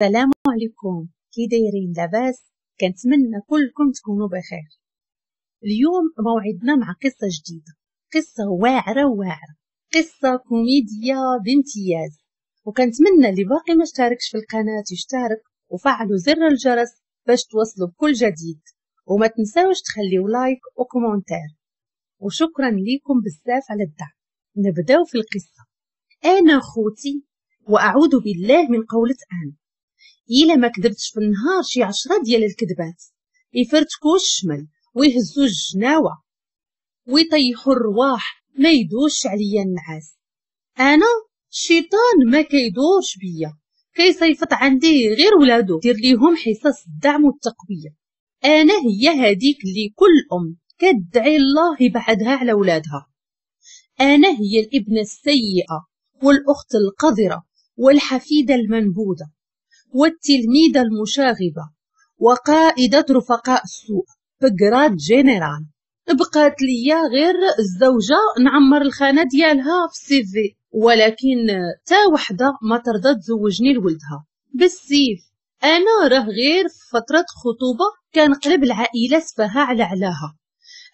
السلام عليكم، كي دايرين؟ لاباس؟ كنتمنى كلكم تكونوا بخير. اليوم موعدنا مع قصة جديدة، قصة واعرة واعرة، قصة كوميدية بامتياز. وكنتمنى اللي باقي ما اشتركش في القناة يشترك وفعلوا زر الجرس باش توصلوا بكل جديد، وما تنساوش تخليو like و commentaire. وشكرا لكم بزاف على الدعم. نبداو في القصة. انا خوتي، واعوذ بالله من قولة انا، الا ما كذبتش في النهار شي 10 ديال الكذبات يفرتكو الشمل ويهزو الجناوه ويطيحوا الرواح، ما يدوش عليا النعاس. انا الشيطان ما كيدورش بيا، كيصيفط عندي غير ولادو دير ليهم حصص الدعم والتقويه. انا هي هذيك اللي كل ام كتدعي الله يبعدها على ولادها. انا هي الابنه السيئة والاخت القذرة والحفيده المنبوذه والتلميذه المشاغبه وقائده رفقاء السوء ب grade général. بقات ليا غير الزوجة نعمر الخانة ديالها في ال CV، ولكن تا وحده ما ترضى تزوجني لولدها بالسيف. انا راه غير في فترة خطوبه كنقلب العائلة سفاها على علاها،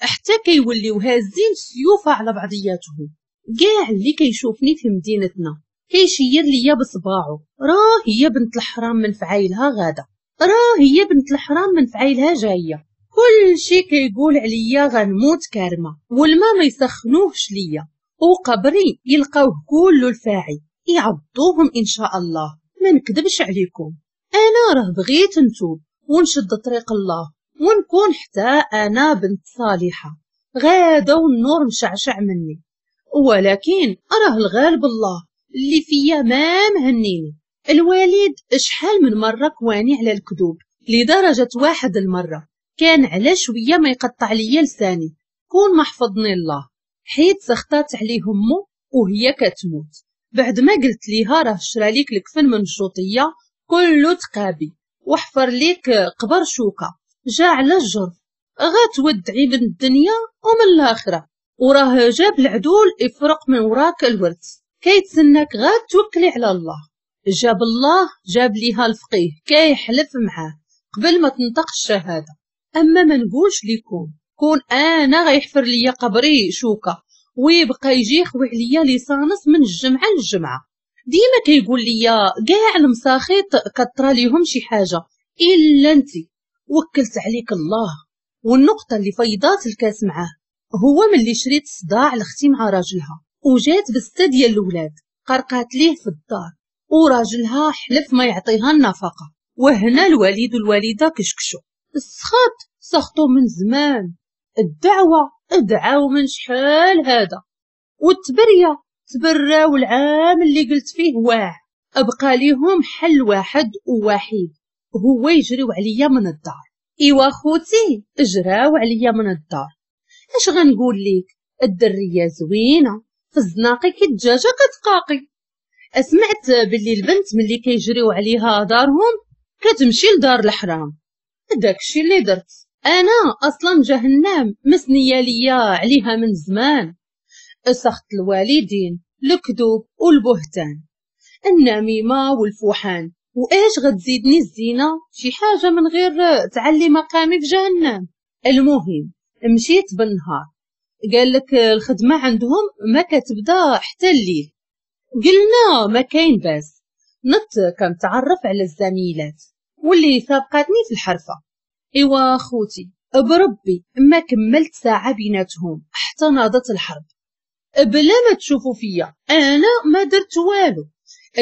حتى كيوليو هازين السيوف على بعضياتهم. كاع اللي كيشوفني في مدينتنا كيشير ليا بصباعو، راه هي بنت الحرام من فعايلها غاده، راه هي بنت الحرام من فعايلها جاية. كل شي كيقول عليا غنموت كارمه، والما ما يسخنوهش ليا، وقبري يلقاوه كله الفاعي يعضوهم ان شاء الله. ما نكذبش عليكم، انا راه بغيت نتوب ونشد طريق الله ونكون حتى انا بنت صالحه غاده والنور مشعشع مني، ولكن راه الغالب الله اللي فيا ما مهنيني. الوالد شحال من مرة كواني على الكذوب، لدرجة واحد المرة كان على شوية ما يقطع ليا لساني كون ما حفظني الله، حيت سخطات عليه امو وهي كتموت بعد ما قلت ليها راه شرا ليك الكفن من الشوطيه كله تقابي وحفر ليك قبر شوكه جا على الجرف، غتودعي من الدنيا ومن الاخرة، وراه جاب العدول يفرق من وراك الورث، كيتسناك غا توكلي على الله. جاب الله جاب ليها الفقيه كيحلف معاه قبل ما تنطق الشهادة. اما ما نقولش ليكم كون انا غيحفر ليا قبري شوكه ويبقى يجي يخوي عليا l'essence من الجمعة للجمعة. ديما كيقول ليا كاع المساخيط كطرى ليهم شي حاجة الا انت، وكلت عليك الله. والنقطة اللي فيضات الكاس معاه هو ملي شريت صداع لاختي مع راجلها وجات بسته ديال الاولاد قرقات ليه في الدار، وراجلها حلف ما يعطيها النفقة. وهنا الوالد والوالدة كشكشو السخط، سخطو من زمان، الدعوة ادعاو من شحال هذا، والتبريه تبراو العام اللي قلت فيه واع. ابقى ليهم حل واحد ووحيد، هو يجريو عليا من الدار. ايوا خوتي اجراو عليا من الدار. اش غنقول ليك، الدريه زوينة في الزناقي كي الدجاجة كتقاقي. اسمعت باللي البنت ملي كيجريو عليها دارهم كتمشي لدار الحرام. داكشي اللي درت انا، اصلا جهنم مسنيه ليا عليها من زمان. سخط الوالدين، الكذوب والبهتان، النميمة والفوحان، واش غتزيدني الزينة شي حاجة من غير تعلي مقامي في جهنم؟ المهم مشيت بالنهار، قال لك الخدمة عندهم ما كتبدا حتى الليل. قلنا ما كاين باس. نط كنتعرف على الزميلات واللي سابقاتني في الحرفة. ايوا خوتي بربي ما كملت ساعة بيناتهم حتى ناضت الحرب. بلا ما تشوفوا فيا انا ما درت والو،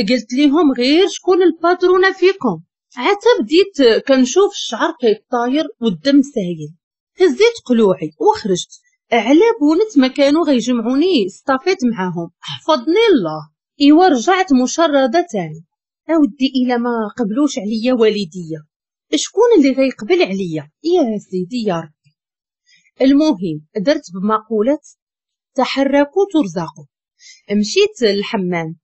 قلت ليهم غير شكون الباترونه فيكم. عتا بديت كنشوف الشعر كيطاير والدم سايل، هزيت قلوعي وخرجت على بونت ما كانوا غيجمعوني صطافيت معاهم، حفظني الله. ايوا رجعت مشرده تاني. اودي الا ما قبلوش عليا والديا شكون اللي غيقبل عليا يا سيدي يا ربي؟ المهم درت بمقولة تحركوا ترزقوا. مشيت للحمام،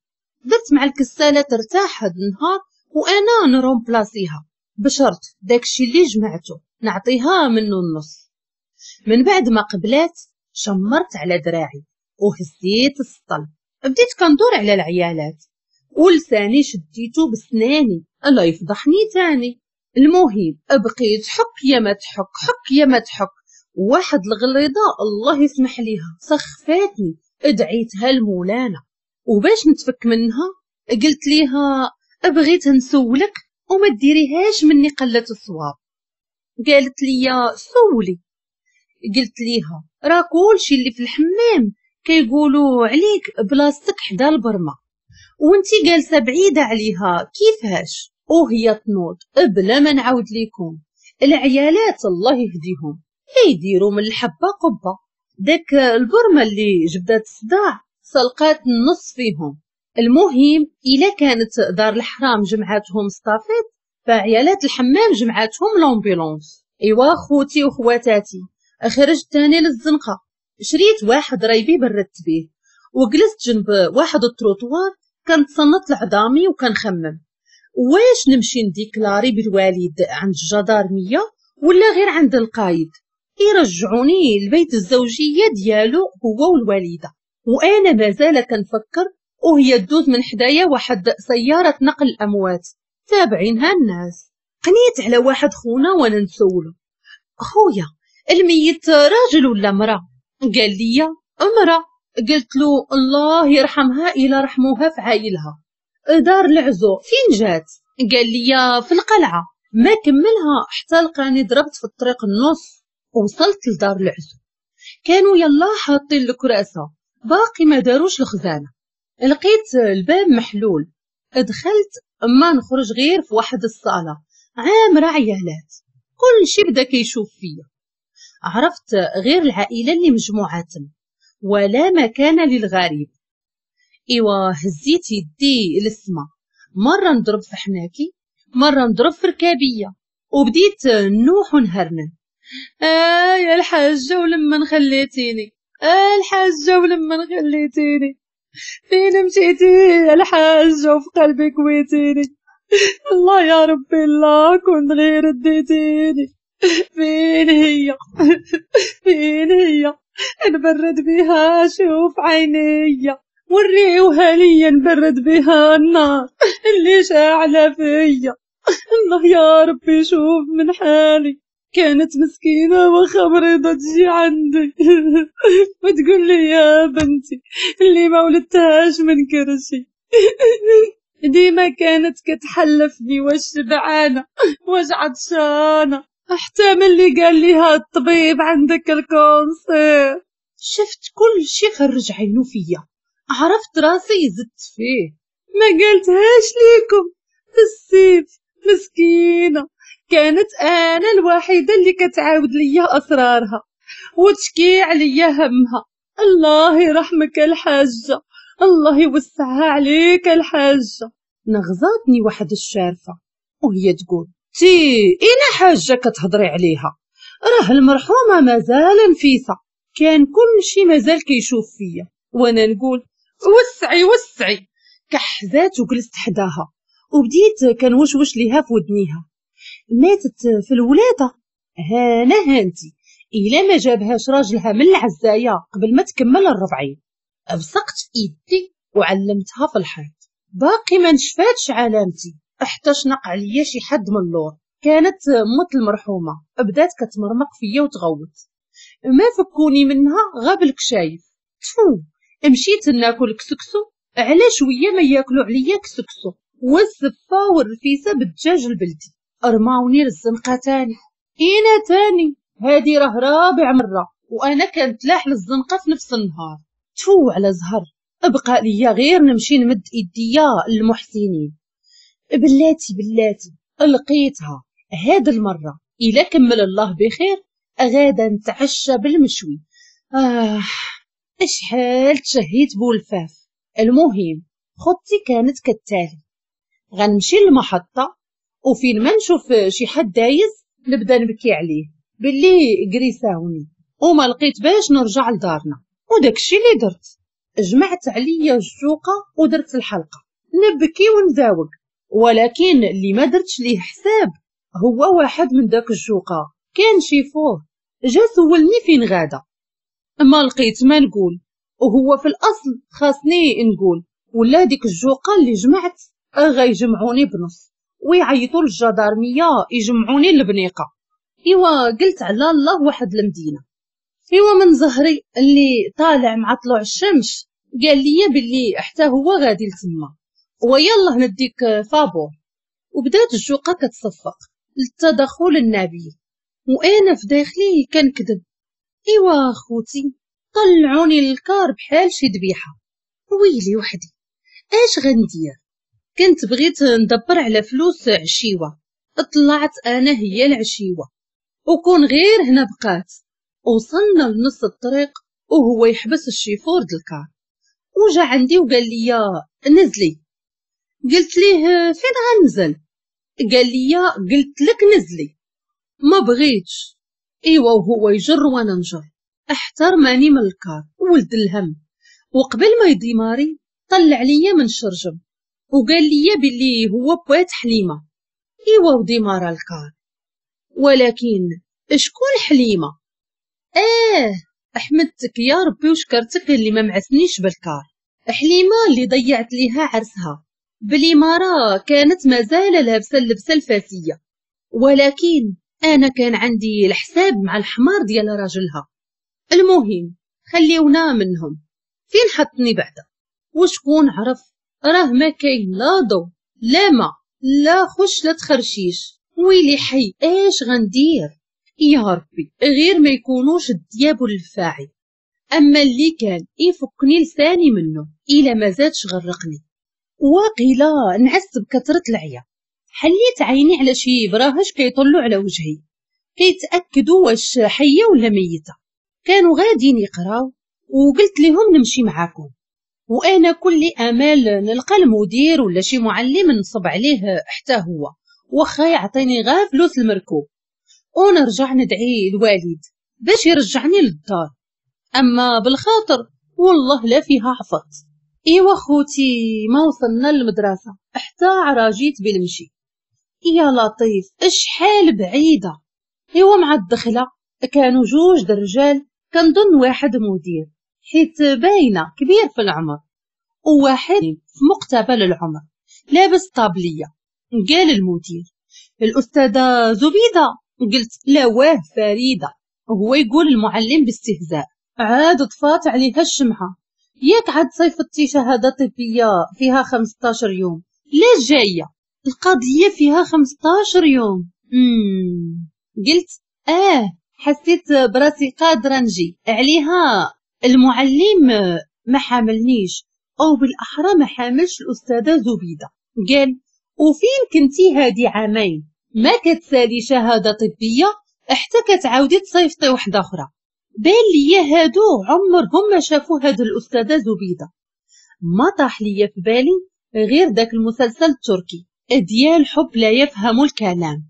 درت مع الكساله ترتاح هاد النهار وانا نرومبلاسيها بشرط داكشي اللي جمعته نعطيها منه النص. من بعد ما قبلات شمرت على دراعي وهزيت السطل، بديت كندور على العيالات. ولساني شديتو بسناني الله يفضحني تاني. المهم بقيت حك يا ما تحك، حك يا ما تحك. واحد الغليظة الله يسمح ليها سخفاتني، ادعيتها لمولانا. وباش نتفك منها قلت ليها بغيت نسولك وما ديريهاش مني قلة الصواب. قالت لي سولي. قلت ليها راه كلشي اللي في الحمام كيقولوا عليك بلاصتك حدا البرمة وانتي جالسة بعيدة عليها، كيفاش؟ وهي تنوض بلا ما نعاود ليكم. العيالات الله يهديهم كيديروا من الحبة قبه. داك البرمة اللي جبدات الصداع سلقات النص فيهم. المهم الا كانت دار الحرام جمعاتهم estafette، فعيالات الحمام جمعاتهم l'ambulance. ايوا خوتي وخواتاتي، خرجت تاني للزنقه، شريت واحد رايبي بردت بيه، وجلست جنب واحد التروطوار كنتصنت لعظامي وكنخمم واش نمشي نديكلاري بالوالد عند الجدارميه ولا غير عند القايد يرجعوني لبيت الزوجية ديالو هو والوالدة. وانا مازال كنفكر وهي تدوز من حدايا واحد سيارة نقل الاموات تابعينها الناس. قنيت على واحد خونا وانا نسولو، خويا الميت راجل ولا مرا؟ قال لي امرا. قلت له الله يرحمها الى رحموها في عايلها. دار العزو فين جات؟ قال لي في القلعة. ما كملها حتى لقاني ضربت في الطريق النص. وصلت لدار العزو، كانوا يلا حاطين الكراسة باقي ما داروش الخزانة. لقيت الباب محلول، دخلت ما نخرج غير في واحد الصاله عامرة عيالات، كل شي بدا كيشوف فيا. عرفت غير العائلة اللي مجموعة ولا مكان للغريب. ايوا هزيت يدي للسما، مرة نضرب في حناكي مرة نضرب في ركابيه، وبديت نوح ونهرنن. يا الحاجة ولما خليتيني، الحاجة ولما خليتيني، فين مشيتي يا الحاجة وفي قلبي كويتيني، الله يا ربي الله كنت غير اديتيني، فين هي فين هي نبرد بها شوف عينيا، وريوها ليا نبرد بها النار اللي شاعله فيا، الله يا ربي شوف من حالي. كانت مسكينة واخا مريضة تجي عندي وتقول لي يا بنتي اللي ما ولدتهاش من كرشي. ديما كانت كتحلفني واش شبعانة واش عطشانة، حتى ملي قال ليها الطبيب عندك ال cancer. شفت كل شي خرج عينو فيا، عرفت راسي زدت فيه. ما قالتهاش ليكم في السيف مسكينة، كانت انا الوحيدة اللي كتعاود ليا اسرارها وتشكي عليا همها. الله يرحمك الحاجة، الله يوسعها عليك الحاجة. نغزاتني واحد الشارفه وهي تقول تي انا حاجة كتهضري عليها، راه المرحومة مازال نفيسة. كان كل شي مازال كيشوف فيا وانا نقول وسعي وسعي. كحزات وجلست حداها وبديت كنوشوش ليها في ودنيها. ماتت في الولادة، هانا هانتي الا ما جابهاش راجلها من العزايه قبل ما تكمل 40. بصقت في ايدي وعلمتها في الحيط، باقي ما نشفاتش علامتي حتى شنق عليا شي حد من اللور. كانت مت المرحومة بدات كتمرمق فيا وتغوت، ما فكوني منها غا بالكشايف. تفو مشيت ناكل كسكسو، على شوية ما ياكلوا عليا كسكسو والزفه والرفيسه بالدجاج البلدي. رماوني للزنقه تاني، انا تاني هادي راه رابع مرة وانا كنتلاح للزنقه في نفس النهار. تفو على زهر، ابقى ليا غير نمشي نمد ايديا للمحسنين. بلاتي بلاتي لقيتها هاد المرة، الا كمل الله بخير غادا نتعشى بالمشوي. اشحال تشهيت بولفاف. المهم خطتي كانت كالتالي، غنمشي للمحطه وفين ما نشوف شي حد دايز نبدا نبكي عليه باللي كريساوني وما لقيت باش نرجع لدارنا. وداكشي اللي درت، جمعت عليا الجوقه ودرت الحلقة نبكي ونزاوق. ولكن اللي ما درتش ليه حساب هو واحد من داك الجوقه كان شيفور، جا سولني فين غادا، ما لقيت ما نقول، وهو في الاصل خاصني نقول ولا ديك الجوقه اللي جمعت غيجمعوني بنص ويعيطوا للجدارميه يجمعوني للبنيقه. ايوا قلت على الله واحد المدينة. ايوا من زهري اللي طالع مع طلوع الشمس قال لي باللي حتى هو غادي لتما، ويلا نديك فابور. وبدات الجوقه كتصفق للتدخل النبيل، وانا في داخلي كنكذب. ايوا خوتي طلعوني للكار بحال شي ذبيحة. ويلي وحدي اش غندير؟ كنت بغيت ندبر على فلوس عشيوه، طلعت انا هي العشيوه، وكون غير هنا بقات. وصلنا لنص الطريق وهو يحبس الشيفور د الكار وجا عندي وقال لي نزلي. قلت ليه فين غنزل؟ قال لي قلت لك نزلي. ما بغيتش. ايوا وهو يجر وانا نجر، احترمني من الكار ولد الهم. وقبل ما يديماري طلع ليا من الشرجم وقال لي باللي هو بوات حليمة. ايوا وديمارا الكار، ولكن شكون حليمة؟ احمدتك يا ربي وشكرتك اللي ما معسنيش بالكار. حليمة اللي ضيعت ليها عرسها بالإمارة، كانت مازال لابسه اللبسه الفاسيه، ولكن انا كان عندي الحساب مع الحمار ديال راجلها. المهم خليونا منهم، فين حطني بعدا؟ وشكون عرف؟ راه ما كاين لا ضو لا ما لا خش لا تخرشيش. ويلي حي اش غندير يا ربي؟ غير ما يكونوش الدياب والفاعي. اما اللي كان يفكني لساني منه الا ما زادش غرقني. وقيلا نعس بكثرة العيا. حليت عيني على شي براهش كيطلوا على وجهي كيتاكدوا واش حيه ولا ميته. كانوا غاديين يقراو وقلت لهم نمشي معاكم، وانا كل امال نلقى المدير ولا شي معلم نصب عليه حتى هو، واخا يعطيني غير فلوس المركوب، ونرجع ندعي الوالد باش يرجعني للدار. اما بالخاطر والله لا فيها عفط. ايوا خوتي ما وصلنا للمدرسة حتى عراجيت بالمشي. يا لطيف شحال بعيدة. ايوا مع الدخلة كانوا جوج درجال، كنظن واحد مدير حيت باينة كبير في العمر، وواحد في مقتبل العمر لابس طابليه. قال المدير الاستاذة زبيده. قلت لا واه فريدة. وهو يقول المعلم باستهزاء عاد طفات عليها الشمعة، ياك عاد صيفطتي شهادة طبية فيها 15 يوم، لا جاية القضية فيها 15 يوم. قلت حسيت براسي قادرة نجي عليها. المعلم ما حاملنيش، او بالاحرى ما حاملش الاستاذة زبيده. قال وفين كنتي هادي عامين ما كتسالي شهادة طبية حتى كتعاودي تصيفطي وحده اخرى؟ بان ليا هادو عمرهم ما شافوا هاد الاستاذة زبيده. ما طاح ليا في بالي غير داك المسلسل التركي ديال حب لا يفهم الكلام،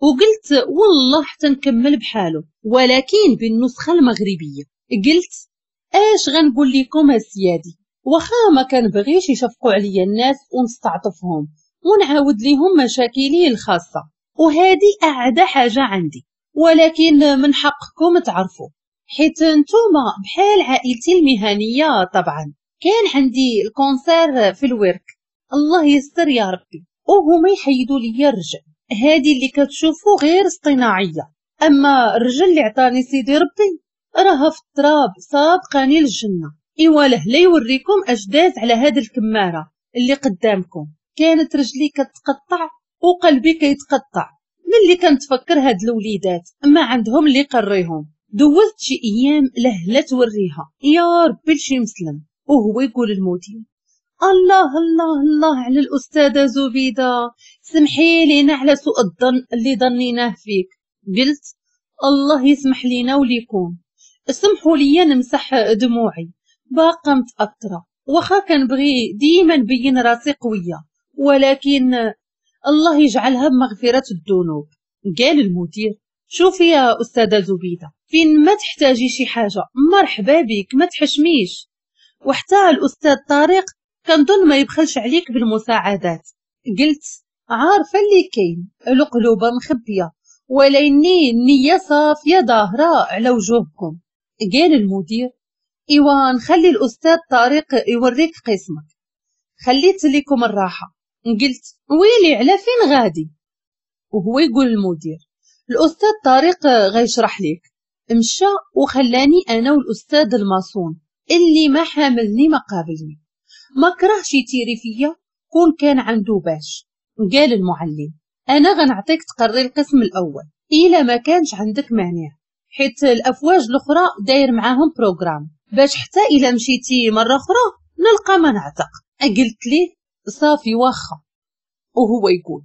وقلت والله حتى نكمل بحاله ولكن بالنسخة المغربية. قلت اش غنقول لكم اسيادي، واخا ما كنبغيش يشفقوا عليا الناس ونستعطفهم ونعاود ليهم مشاكلي الخاصة، وهذه اعدى حاجة عندي، ولكن من حقكم تعرفوا حيت نتوما بحال عائلتي المهنية. طبعا كان عندي ال cancer في الورك، الله يستر يا ربي، وهما يحيدوا لي الرجل. هذه اللي كتشوفوا غير اصطناعيه، اما الرجل اللي عطاني سيدي ربي راها في التراب سابقاني للجنة. ايوا له لا يوريكم اش داز على هاد الكماره اللي قدامكم. كانت رجلي كتقطع وقلبي كيتقطع ملي كنتفكر هاد الوليدات ما عندهم اللي يقريهم. دوزت شي ايام لهلا توريها يا ربي لشي مسلم. وهو يقول المدير الله الله الله على الاستاذة زبيده، سمحي لينا على سوء الظن اللي ظنيناه فيك. قلت الله يسمح لينا وليكم، سمحوا لي نمسح دموعي باقا متاثرة، واخا كنبغي ديما نبين راسي قوية، ولكن الله يجعلها بمغفرة الذنوب. قال المدير شوفي يا استاذه زبيده، فين ما تحتاجي شي حاجة مرحبا بك، ما تحشميش. وحتى الاستاذ طارق كنظن ما يبخلش عليك بالمساعدات. قلت عارفه اللي كاين، القلوبه مخبيه ولكني النية صافية ظاهره على وجوهكم. قال المدير ايوا نخلي الاستاذ طارق يوريك قسمك. خليت لكم الراحة. قلت ويلي على فين غادي؟ وهو يقول المدير الأستاذ طارق غيشرح لك. مشى وخلاني أنا والأستاذ الماسون اللي ما حاملني ما قابلني، ما كرهش يتيري فيا كون كان عنده باش. قال المعلم أنا غنعطيك تقري القسم الأول إلا ما كانش عندك مانع، حيت الأفواج الأخرى داير معاهم programme باش حتى إلا مشيتي مرة أخرى نلقى ما نعتق. قلت ليه صافي واخا. وهو يقول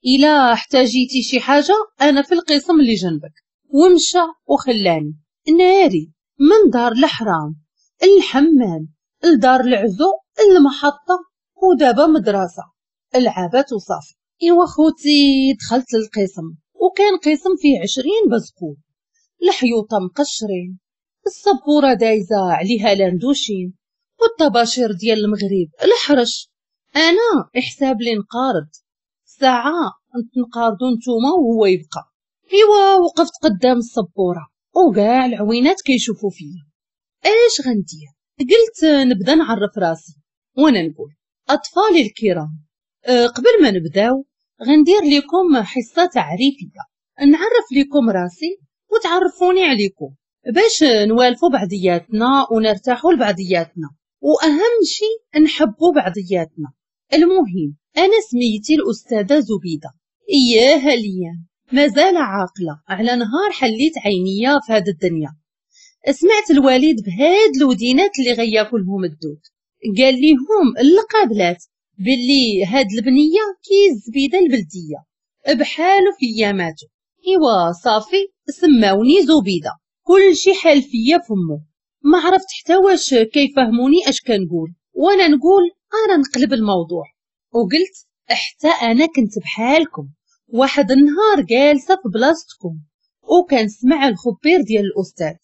إلا احتاجيتي شي حاجة أنا في القسم اللي جنبك. ومشى وخلاني ناري من دار الحرام الحمام لدار العزو المحطة ودابا مدرسة العابات وصافي. إيوا خوتي دخلت للقسم، وكان قسم فيه 20 بزقول، الحيوطة مقشرين، السبورة دايزة عليها لاندوشين، والطباشير ديال المغرب الحرش. أنا حساب لي نقارض ساعة نتنقارضو نتوما وهو يبقى. إيوا وقفت قدام السبورة وكاع العوينات كيشوفوا فيا. اش غندير؟ قلت نبدا نعرف راسي وانا نقول اطفالي الكرام، قبل ما نبداو غندير لكم حصة تعريفية، نعرف لكم راسي وتعرفوني عليكم باش نوالفوا بعضياتنا ونرتاحوا لبعضياتنا، واهم شيء نحبوا بعضياتنا. المهم انا سميتي الاستاذة زبيده. اياها ليا مازال عاقلة على نهار حليت عينيا في هذه الدنيا. سمعت الوالد بهاد الودينات اللي غياكلهم الدود، قال ليهم القابلات باللي هاد البنية كي الزبيده البلدية بحالو في اياماتو. ايوا صافي سماوني زبيده، كل شي حال فيا فمو، ما عرفت حتى واش كيفهموني اش كنقول، وانا نقول انا نقلب الموضوع. وقلت حتى انا كنت بحالكم واحد النهار جالسة في بلاصتكم وكنسمع الخبير ديال الاستاذ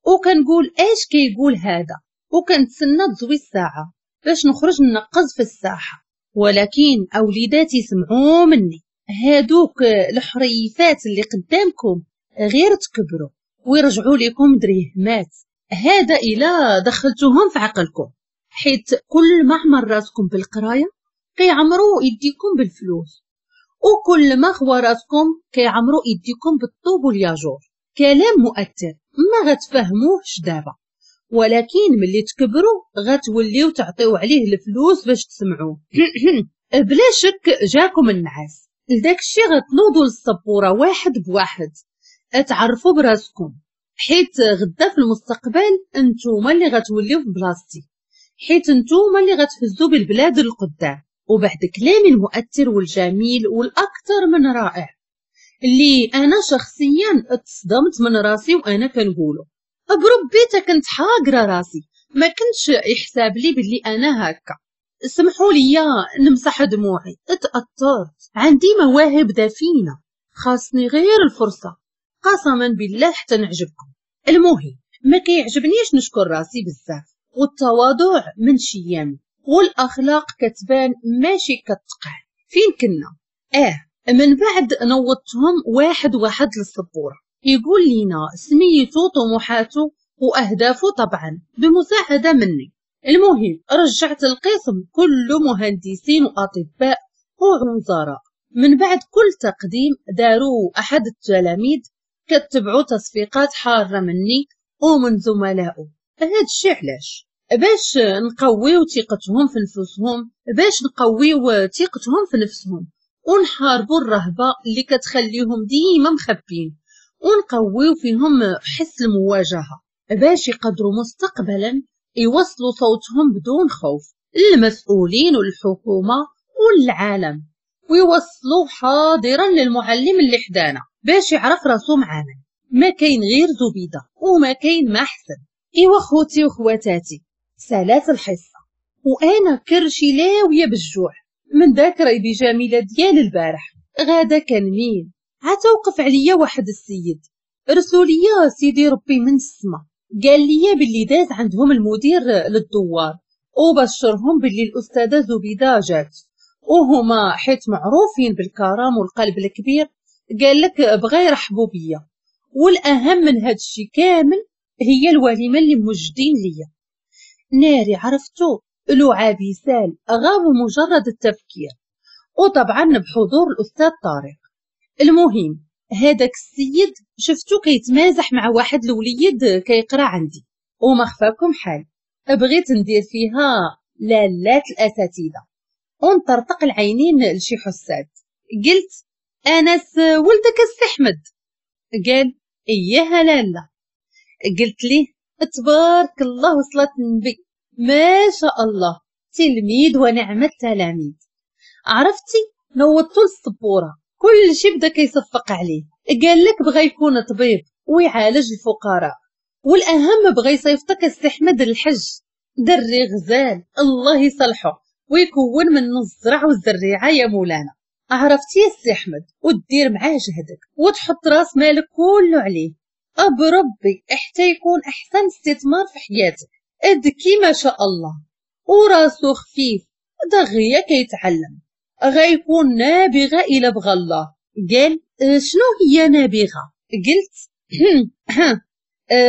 وكنقول اش كيقول هذا، وكنتسنى تزوي الساعة باش نخرج ننقز في الساحة. ولكن اوليداتي سمعوا مني، هادوك الحريفات اللي قدامكم غير تكبروا ويرجعوا لكم دريهمات، هذا الا دخلتوهم في عقلكم، حيت كل ما عمر راسكم بالقرايه كيعمروا يديكم بالفلوس، وكل ما خوا راسكم كيعمروا يديكم بالطوب والياجور. كلام مؤثر ما غتفهموهش دابا، ولكن ملي تكبروا غتوليو تعطيو عليه الفلوس باش تسمعوه. بلا شك جاكم النعاس، لداك الشي غتنوضوا للسبوره واحد بواحد تعرفوا براسكم، حيت غدا في المستقبل انتوما اللي غتوليو في بلاصتي، حيت انتوما اللي غتهزوا بالبلاد للقدام. وبعد كلامي المؤثر والجميل والاكثر من رائع اللي انا شخصيا اتصدمت من راسي وانا كنقوله، بربي كنت حاقره راسي، ما كنتش يحساب لي باللي انا هكا. سمحوا لي نمسح دموعي، اتأثرت، عندي مواهب دفينه خاصني غير الفرصة، قسما بالله حتى نعجبكم. المهم ما كيعجبنيش نشكر راسي بزاف، والتواضع من شيامي، والاخلاق كتبان ماشي كتقع. فين كنا؟ من بعد نوضتهم واحد واحد للسبوره، يقول لينا سميتو طموحاتو واهدافو طبعا بمساعدة مني. المهم رجعت القسم كله مهندسين واطباء ووزراء. من بعد كل تقديم داروا احد التلاميذ كتبعوا تصفيقات حارة مني ومن زملائه. هاد الشيء علاش؟ باش نقويو ثقتهم في نفسهم، باش نقويو ثقتهم في نفسهم ونحاربوا الرهبة اللي كتخليهم ديما مخبين، ونقويو فيهم حس المواجهة باش يقدروا مستقبلا يوصلوا صوتهم بدون خوف للمسؤولين والحكومة والعالم، ويوصلوا حاضرا للمعلم اللي حدانا باش يعرف راسو معانا. ما كاين غير زبيده وما كاين ما احسن. ايوا خوتي وخواتاتي، سالات الحصة وانا كرشي لاويه بالجوع من داك ريبي جميلة ديال البارح. غادا كنميل عتوقف عليا واحد السيد رسلوا ليا سيدي ربي من السما، قال لي باللي داز عندهم المدير للدوار وبشرهم باللي الاستاذة زبيده جات، وهما حيت معروفين بالكرم والقلب الكبير قال لك بغا يرحبوا بيا. والاهم من هذا الشيء كامل هي الوليمة اللي موجدين ليا. ناري عرفتو لعابي سال غاب مجرد التفكير، وطبعا بحضور الأستاذ طارق. المهم هذاك السيد شفتو كيتمازح مع واحد الوليد كيقرا عندي، وما خفاكم حال بغيت ندير فيها لالات الأساتذة ونطرطق العينين لشي حساد. قلت أنس ولدك السي أحمد؟ قال إياها لالا. قلت ليه تبارك الله وصلت النبي، ما شاء الله تلميذ ونعم التلاميذ. عرفتي نوضتو للسبوره كل شي بدا كيصفق عليه، قال لك بغى يكون طبيب ويعالج الفقراء، والاهم بغى يصيفطك السي احمد للحج. دري غزال الله يصلحه ويكون منه الزرع والزريعه يا مولانا. عرفتي يا السي احمد ودير معاه جهدك وتحط راس مالك كله عليه، بربي حتى يكون احسن استثمار في حياتك. ذكي ما شاء الله وراسو خفيف دغيا كيتعلم، غيكون نابغه الى بغى الله. قال شنو هي نابغه؟ قلت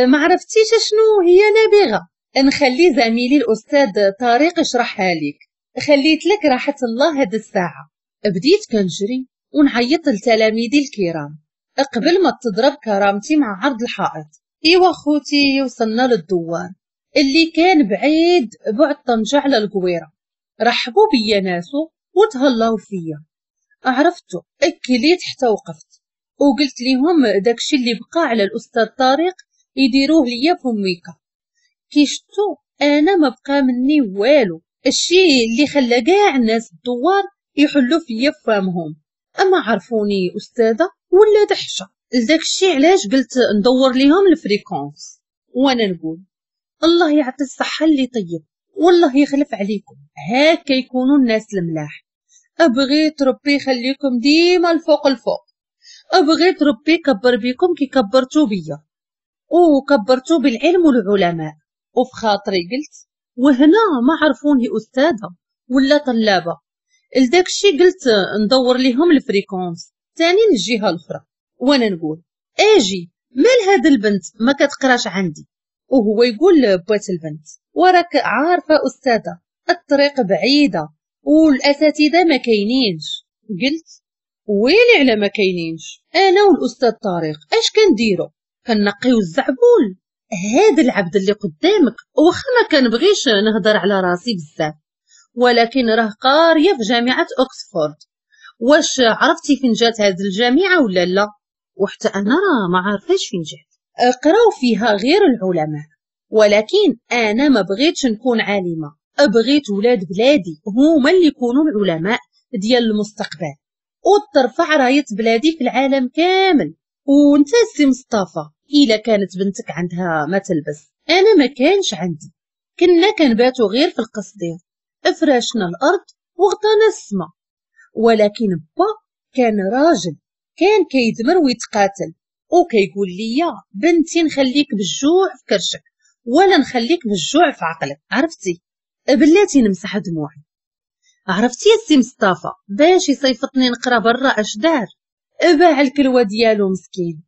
ما عرفتيش شنو هي نابغه، نخلي زميلي الاستاذ طارق يشرحها لك. خليت لك راحة الله هاد الساعة. بديت كنجري ونعيط لتلاميذي الكرام قبل ما تضرب كرامتي مع عرض الحائط. ايوا خوتي وصلنا للدوار اللي كان بعيد بعد طنجة على القويرة. رحبوا بيا ناسو وتهلاو فيا. عرفتو اكليت حتى وقفت وقلت ليهم داكشي اللي بقى على الاستاذ طارق يديروه ليا فميكا. كي شتو انا ما بقى مني والو، الشيء اللي خلى كاع الناس الدوار يحلوا فيا فامهم، اما عرفوني استاذه ولا دحشه. لداكشي علاش قلت ندور ليهم ال fréquence، وانا نقول الله يعطي الصحة اللي طيب والله يخلف عليكم، هاكا يكونوا الناس الملاح. ابغيت ربي يخليكم ديما الفوق الفوق، ابغيت ربي يكبر بيكم كي كبرتو بيا وكبرتو بالعلم والعلماء. وفي خاطري قلت وهنا ما عرفوني استاذه ولا طلابه، لداكشي قلت ندور ليهم ال fréquence تاني للجهة الاخرى. وانا نقول اجي مال هاد البنت ما كتقراش عندي، وهو يقول بوات البنت وراك عارفه استاذه الطريق بعيدة والاساتذه ما كاينينش. قلت ويلي على ما كاينينش، انا والاستاذ طارق اش كنديرو؟ كنقيو الزعبول. هذا العبد اللي قدامك واخا ما كنبغيش نهضر على راسي بزاف، ولكن راه قارية في جامعه اوكسفورد. واش عرفتي فين جات هذه الجامعة ولا لا؟ وحتى انا راه ما عارفاش فين جات. قراو فيها غير العلماء، ولكن انا ما بغيتش نكون عالمه، بغيت ولاد بلادي هما اللي يكونوا العلماء ديال المستقبل وترفع رايه بلادي في العالم كامل. وانت سي مصطفى الا كانت بنتك عندها ما تلبس، انا ما كانش عندي، كنا كنباتو غير في القصدير، افراشنا الارض وغطانا السما. ولكن با كان راجل، كان كيدمر ويتقاتل وكيقول لي بنتي نخليك بالجوع في كرشك ولا نخليك بالجوع في عقلك. عرفتي بلاتي نمسح دموعي. عرفتي يا سي مصطفى باش يصيفطني نقرا برا اش دار؟ باع الكلوه ديالو مسكين،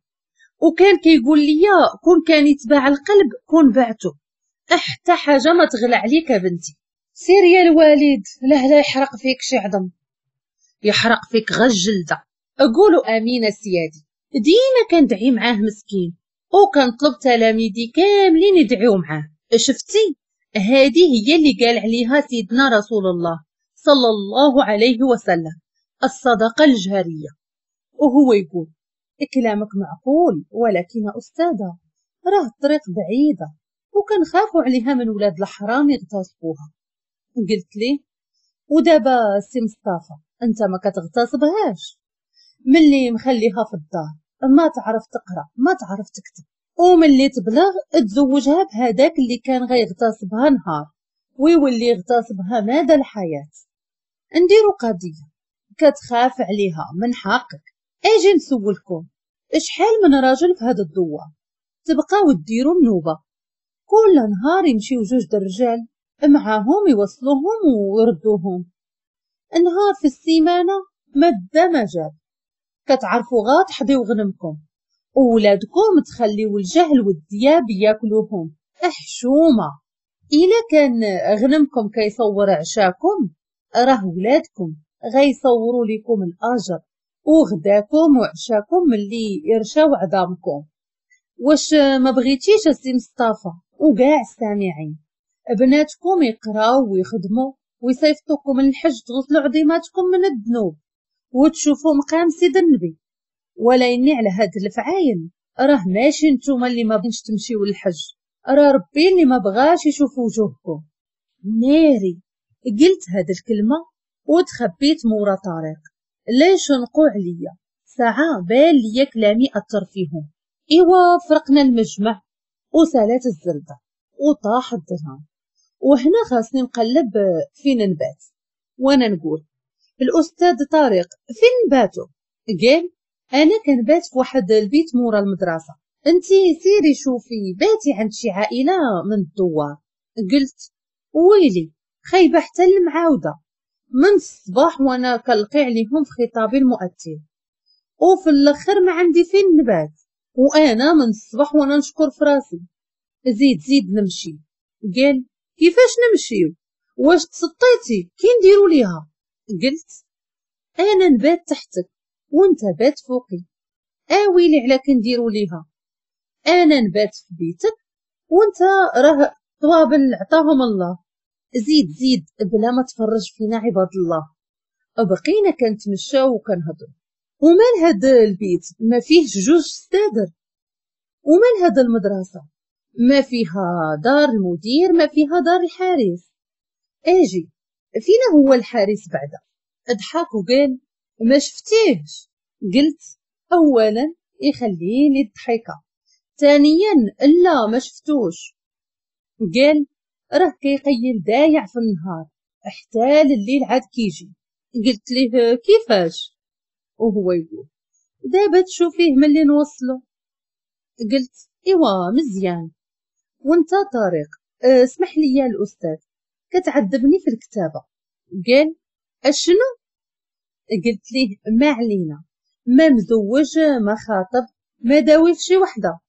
وكان كيقول لي كون كان يتباع القلب كون بعته، حتى حاجة ما تغلى عليك بنتي. سير يا الوالد لا يحرق فيك شي عظم، يحرق فيك غا الجلدة. قولوا امين سيادي. ديما كندعي معاه مسكين، وكنطلب تلاميذي كاملين يدعيو معاه. شفتي هذه هي اللي قال عليها سيدنا رسول الله صلى الله عليه وسلم، الصدقة الجارية. وهو يقول كلامك معقول، ولكن أستاذة راه الطريق بعيدة وكنخافوا عليها من ولاد الحرام يغتصبوها. قلت ليه ودابا سي مصطفى انت ما كتغتصبهاش، ملي مخليها في الدار ما تعرف تقرا ما تعرف تكتب، وملي تبلغ تزوجها بهذاك اللي كان غيغتصبها نهار ويولي يغتصبها مدى الحياة. نديرو قضية كتخاف عليها من حقك. اجي نسولكم شحال من راجل في هذا الدوار تبقاو ديروا النوبة، كل نهار يمشيو جوج الرجال معاهم يوصلوهم ويردوهم، نهار في السيمانة ما دا ما جاب. كتعرفوا غا تحضيو غنمكم وولادكم تخليو الجهل والدياب ياكلوهم. احشومه. الا كان غنمكم كيصور عشاكم راه ولادكم غيصوروا لكم الاجر وغداكم وعشاكم ملي يرشاو عظامكم. واش ما بغيتيش السي مصطفى وكاع السامعين بناتكم يقراو ويخدموا ويصيفطوكم للحج تغسلوا عظيماتكم من الذنوب وتشوفوا مقام سيد النبي؟ ولكن على هاد الفعايل راه ماشي نتوما اللي ما بغيتش تمشيو للحج، راه ربي اللي ما بغاش يشوف وجوهكم. ناري قلت هاد الكلمة وتخبيت مورا طارق لا يشنقوا عليا، ساعة بان ليا كلامي اثر فيهم. ايوا فرقنا المجمع وسالات الزردة وطاح الدرهم، وهنا خاصني نقلب فين نبات. وانا نقول الاستاذ طارق فين نباتو؟ قال انا كنبات في واحد البيت مورا المدرسة، انتي سيري شوفي باتي عند شي عائلة من الدوار. قلت ويلي خايبة حتى المعاوده، من الصباح وانا كنلقي عليهم في خطابي المؤثر، وفي الاخر ما عندي فين نبات، وانا من الصباح وانا نشكر في راسي. زيد زيد نمشي. قال كيفاش نمشيو؟ واش تسطيتي؟ كي نديرو ليها؟ قلت انا نبات تحتك وانت بات فوقي. اويلي على كنديرو ليها، انا نبات في بيتك وانت راه طوابل عطاهم الله. زيد زيد بلا ما تفرج فينا عباد الله. بقينا كنتمشاو وكنهضروا. ومال هاد البيت ما فيهش جوج ستادر؟ ومال هاد المدرسة ما فيها دار المدير، ما فيها دار الحارس؟ اجي فينا هو الحارس بعدا؟ اضحك وقال ما شفتيهش. قلت اولا يخليني الضحكة، ثانيا لا ما شفتوش. قال راه كيقيل دايع في النهار حتى لليل عاد كيجي. قلت ليه كيفاش؟ وهو يقول دابا تشوفيه ملي نوصلو. قلت ايوا مزيان. وانت طارق اسمح لي يا الاستاذ كتعذبني في الكتابة. قال اشنو؟ قلت ليه ما علينا، ما مزوج ما خاطب ما داوي في شي وحده،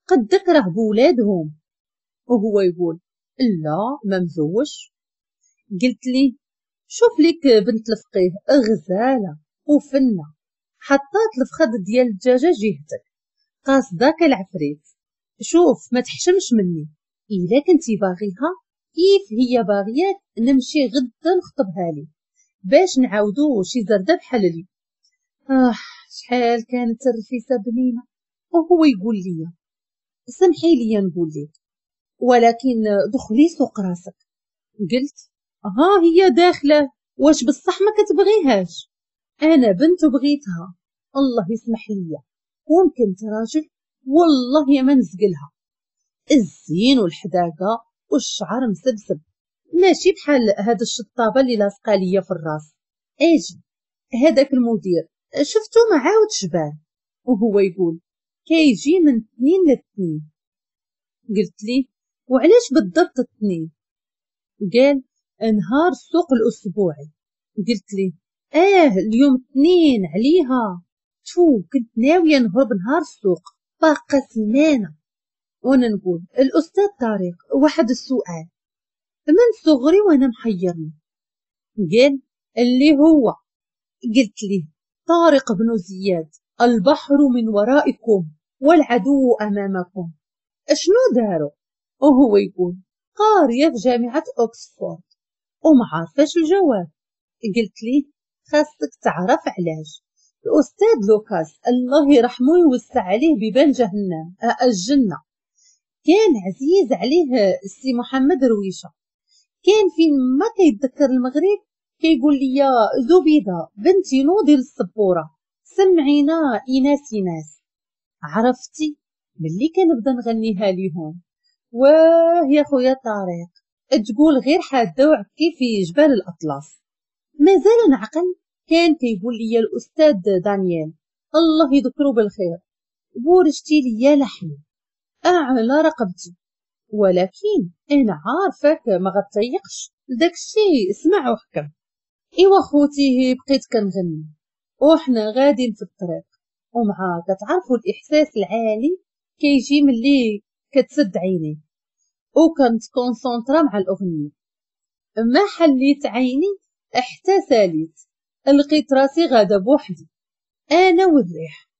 قدك راه بولادهم. وهو يقول لا ما مزوج. قلت ليه شوف ليك بنت الفقيه غزاله وفنه، حطات الفخذ ديال الدجاجة جهتك قاصداك العفريت، شوف ما تحشمش مني، الا كنتي باغيها كيف هي باغياك نمشي غدا نخطبها لي باش نعاودو شي زرده بحال لي. شحال كانت الرفيسه بنينه. وهو يقول لي سمحي لي نقول لك ولكن دخلي سوق راسك. قلت ها هي داخله، واش بصح ما كتبغيهاش؟ انا بنت وبغيتها، الله يسمح لي، وممكن راجل والله يا ما نزقلها. الزين والحداقه والشعر مسبسب، ماشي بحال هاد الشطابه اللي لاصقه ليا في الراس. اجي هذاك المدير شفتو ما عاودش بان، وهو يقول كيجي من 2 ل 2. قلت ليه وعلاش بالضبط 2؟ قال نهار السوق الاسبوعي. قلت ليه اليوم 2 عليها. شو كنت ناوية نهرب نهار السوق باقا سيمانه. وانا نقول الاستاذ طارق واحد السؤال من صغري وانا محيرني. قال اللي هو؟ قلت ليه طارق بن زياد، البحر من ورائكم والعدو امامكم، اشنو داروا؟ وهو يقول قارية في جامعه اوكسفورد وما عارفاش الجواب. قلت ليه خاصك تعرف علاش. الاستاذ لوكاس الله يرحمه ويوسع عليه بيبان جهنم الجنة، كان عزيز عليه السي محمد رويشه، كان فين ما كيتذكر المغرب كيقول لي زبيده بنتي نوضي للسبوره سمعينا ايناس ايناس. عرفتي ملي كنبدا نغنيها ليهم واه يا خويا طارق تقول غير حادة وعكي في جبال الاطلس. مازال نعقل كان كيقول لي الاستاذ دانيال الله يذكره بالخير بورجتي ليا لحمي اعلى رقبتي، ولكن انا عارفك ما غطيقش داكشي، اسمع وحكم. ايوا خوتي بقيت كنغني وحنا غاديين في الطريق، ومع كتعرفوا الاحساس العالي كيجي ملي كتسد عينيه. وكنت concentrée مع الاغنيه. ما حليت عيني حتى ساليت، لقيت راسي غادا بوحدي انا والريح.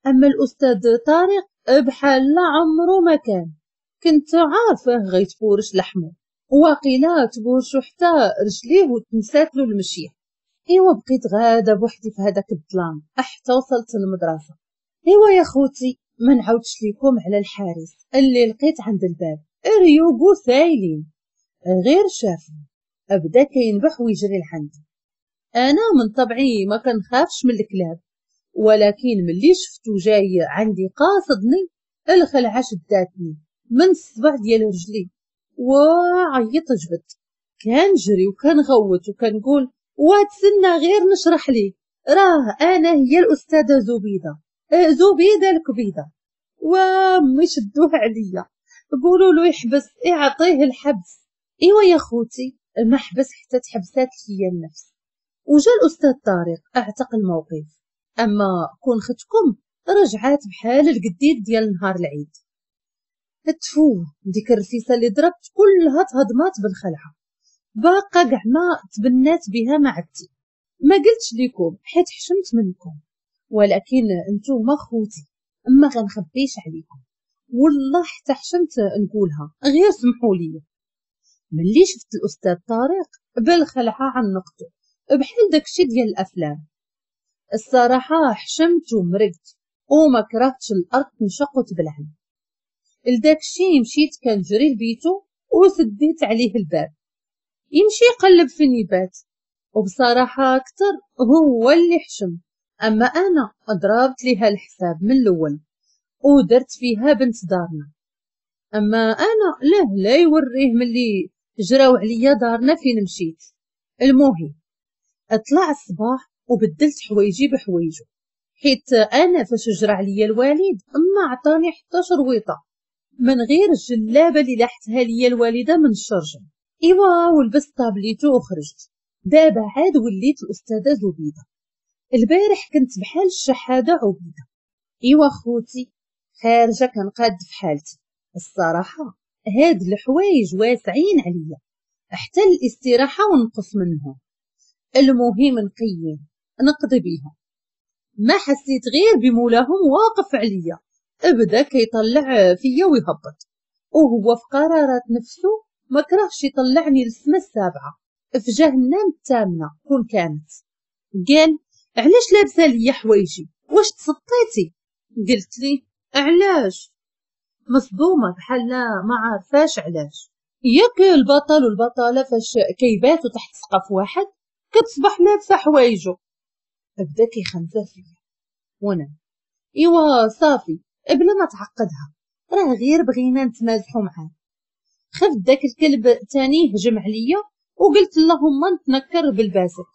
اما الاستاذ طارق بحال لا عمرو ما كان، كنت عارفه غيتفورش لحمه، وقيلا تبورشو حتى رجليه وتنسات له المشية. ايوا بقيت غاده بوحدي في هذاك الظلام حتى وصلت للمدرسة. ايوا يا خوتي ما نعاودش ليكم على الحارس اللي لقيت عند الباب، ريوغو سايلين، غير شافني بدا كينبح ويجري لعندي. انا من طبعي ما كنخافش من الكلاب، ولكن ملي شفتو جاي عندي قاصدني الخلعة شداتني من الصبع ديال رجلي وعيط جبت، كنجري وكنغوت وكنقول وتسنى غير نشرح ليك، راه انا هي الاستاذة زبيده، زبيده الكبيده. وامي شدوه عليا، قولوا له يحبس، يعطيه الحبس. ايوا يا خوتي ما حبس حتى تحبسات ليا النفس. وجا الاستاذ طارق اعتق الموقف، اما كون ختكم رجعات بحال القديد ديال نهار العيد. تفو ديك الرفيسه اللي ضربت كلها تهضمات بالخلعه، باقا كاع ما تبنات بها معدتي. ما قلتش لكم حيت حشمت منكم، ولكن نتوما خوتي ما غنخبيش عليكم، والله حتى حشمت نقولها، غير سمحوا لي. ملي شفت الاستاذ طارق بالخلعه عنقته بحال داكشي ديال الافلام. الصراحة حشمت ومرقت وما كرهتش الارض تنشق وتبلعني. لداكشي مشيت كنجري لبيتو وسديت عليه الباب، يمشي يقلب فين يبات. وبصراحة اكثر هو اللي حشم، اما انا ضربت ليها الحساب من الاول ودرت فيها بنت دارنا. اما انا لا يوريه ملي جراو عليا دارنا فين مشيت. المهم طلع الصباح وبدلت حوايجي بحوايجو، حيت انا فاش جرى عليا الوالد ما عطاني حتى شرويطه من غير الجلابه اللي لاحتها ليا الوالدة من الشرجم. ايوا ولبست طابليتو وخرجت. دابا عاد وليت الاستاذة زبيده، البارح كنت بحال الشحاده عبيده. ايوا خوتي خارجه كنقاد في حالتي. الصراحة هاد الحوايج واسعين عليا حتى الاستراحة ونقص منهم. المهم نقيم نقضي بيهم. ما حسيت غير بمولاهم واقف عليا، ابدا كيطلع فيا ويهبط، وهو في قرارات نفسه ما كرهش يطلعني للسما السابعة في جهنم الثامنة كون كانت. قال علاش لابسه ليا حوايجي، واش تسطيتي؟ قلت لي علاش، مصدومة بحال ما عارفاش علاش. ياك البطل والبطله فاش كيباتوا تحت سقف واحد كتصبح لابسه حوايجو. بدا كيخنزر فيا وانا ايوا صافي بلا ما تعقدها، راه غير بغينا نتمازحوا معاه. خفت داك الكلب تاني هجم عليا وقلت اللهم نتنكر بالباسك.